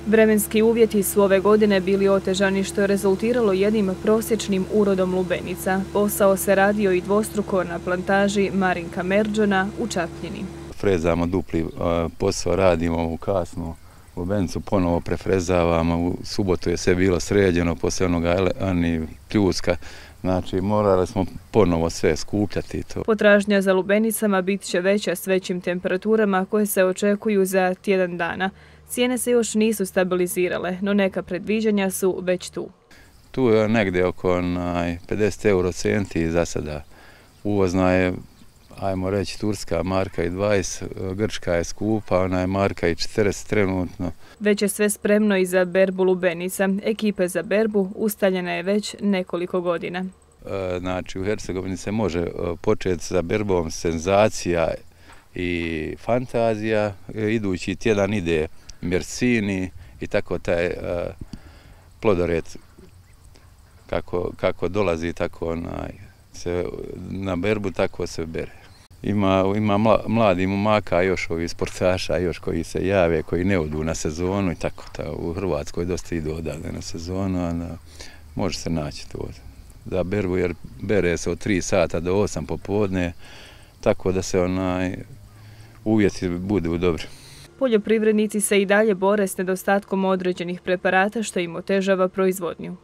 Vremenski uvjeti su ove godine bili otežani što je rezultiralo jednim prosječnim urodom lubenica. Posao se radio i dvostruko na plantaži Marinka Merđona u Čapljini. Frezamo dupli posao, radimo u kasnu lubenicu, ponovo prefrezavamo. U subotu je sve bilo sređeno, poslije onoga pljuska. Znači, morali smo ponovo sve skupljati. Potražnja za lubenicama bit će veća s većim temperaturama koje se očekuju za tjedan dana. Cijene se još nisu stabilizirale, no neka predviđanja su već tu. Tu je negdje oko 50 eurocenti za sada. Uvozna je, ajmo reći, turska marka i 20, grčka je skupa, ona je marka i 40 trenutno. Već je sve spremno i za berbu lubenica. Ekipe za berbu ustaljena je već nekoliko godina. Znači, u Hercegovini se može početi sa berbom senzacija i fantazija. Idući tjedan ide Mersini i tako taj plodored kako dolazi, tako se na berbu, tako se bere. Ima mladi momaka, još ovi sportaša, još koji se jave, koji ne odu na sezonu i tako. U Hrvatskoj dosta idu odavde na sezonu, a može se naći to za berbu, jer bere se od 3 sata do 8 popodne, tako da se uvjeti budu dobri. Poljoprivrednici se i dalje bore s nedostatkom određenih preparata što im otežava proizvodnju.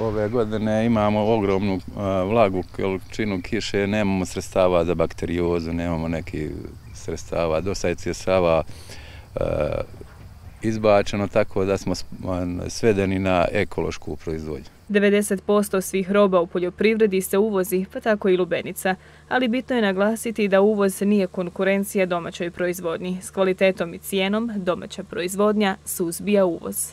Ove godine imamo ogromnu vlagu, količinu kiše, nemamo sredstava za bakteriozu, nemamo nekih sredstava. Dosta je sredstava izbačeno, tako da smo svedeni na ekološku proizvodnju. 90% svih roba u poljoprivredi se uvozi, pa tako i lubenica. Ali bitno je naglasiti da uvoz nije konkurencija domaćoj proizvodnji. S kvalitetom i cijenom domaća proizvodnja suzbija uvoz.